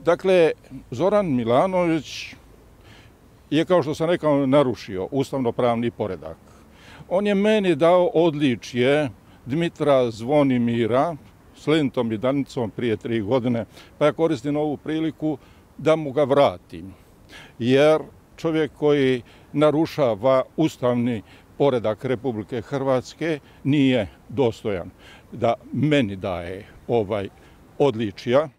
Dakle, Zoran Milanović je, kao što sam rekao, narušio ustavno-pravni poredak. On je meni dao odličje Dmitra Zvonimira s lentom i danicom prije 3 godine, pa ja koristim ovu priliku da mu ga vratim. Jer čovjek koji narušava ustavni poredak Republike Hrvatske nije dostojan da meni daje odličja.